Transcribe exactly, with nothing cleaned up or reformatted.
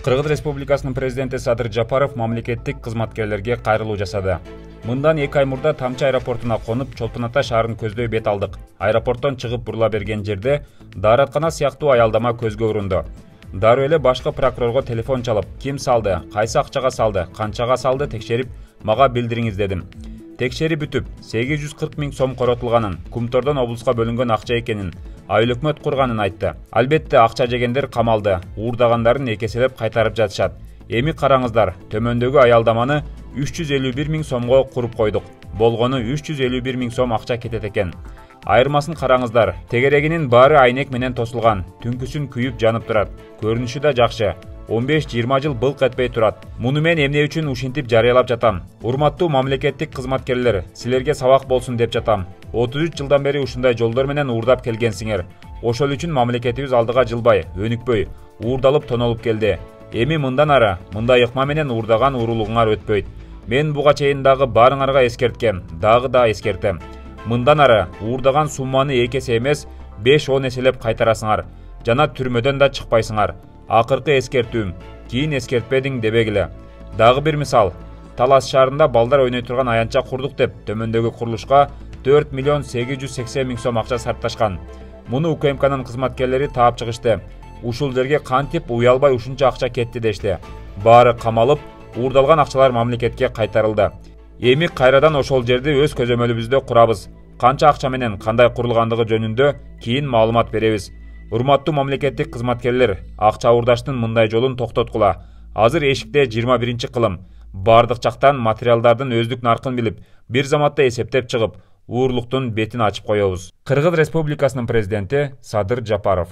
Кыргыз Республикасынын президенти Садыр Жапаров мамлекеттик кызматкерлерге кайрылуу жасады. Мындан эки ай мурда Тамчы аэропортуна конуп, Чолпон Ата шаарын көздөй бет алдык. Аэропорттон чыгып бурула берген жерде даараткана сыяктуу аялдама көзгө урунду. Дароо эле башкы прокурорго телефон чалып, ким салды, кайсы акчага салды, канчага салды текшерип, мага билдириңиз дедим. Текшерип бүтүп, сегиз жүз кырк миң сом коротулганын, Кумтордон облуска бөлүнгөн акча экенин, айыл өкмөт курганын айтты. Албетте акча жегендер камалды, уурдагандарын экеселеп кайтарып жатышат. Эми караңыздар, төмөндөгү аялдаманы үч жүз элүү бир миң сомго куруп койдук. Болгону үч жүз элүү бир миң сом акча кетет экен. Айырмасын караңыздар, тегерегинин баары айнек менен тосулган, түнкүсүн күйүп жанып турат. Көрүнүшү да жакшы. он беш жыйырма жыл былк этпей турат. Муну мен эмне үчүн ушинтип жарыялап жатам? Урматтуу мамлекеттик кызматкерлер, силерге сабак болсун деп жатам. отуз үч жылдан бери ушундай жолдор менен уурдап келгенсиңер. Ошол үчүн мамлекетибиз алдыга жылбай, өнүкпөй, уурдалып тонолуп келди. Эми мындан ары мындай ыкма менен уурдаган уурулугуңар өтпөйт. Мен буга чейин дагы баарыңарга эскерткем, дагы да эскертем. Мындан ары уурдаган сумманы эки эсе эмес, беш он эселеп кайтарасыңар. Жана түрмөдөн да чыкпайсыңар. Акыркы эскертүүм, кийин эскертпедиң дебегиле. Дагы бир мисал, Талас шаарында балдар ойной турган аянтча курдук деп төмөндөгү курулушка төрт миллион сегиз жүз сексен миң сом акча сарпташкан. Муну УКМКнын кызматкерлери таап чыгышты. Ушул жерге кантип уялбай ушунча акча кетти дешти. Баары камалып, уурдалган акчалар мамлекетке кайтарылды. Эми кайрадан ошол жерди өз көзөмөлүбүздө курабыз. Канча акча менен кандай курулгандыгы жөнүндө кийин маалымат беребиз. Урматтуу мамлекеттик кызматкерлер, акча уурдаштын мындай жолун токтоткула. Азыр эшикте жыйырма биринчи кылым. Бардык жактан материалдардын өздүк наркын билип, бир заматта эсептеп чыгып, уурулуктун бетин ачып коебуз. Кыргыз Республикасынын президенти Садыр Жапаров.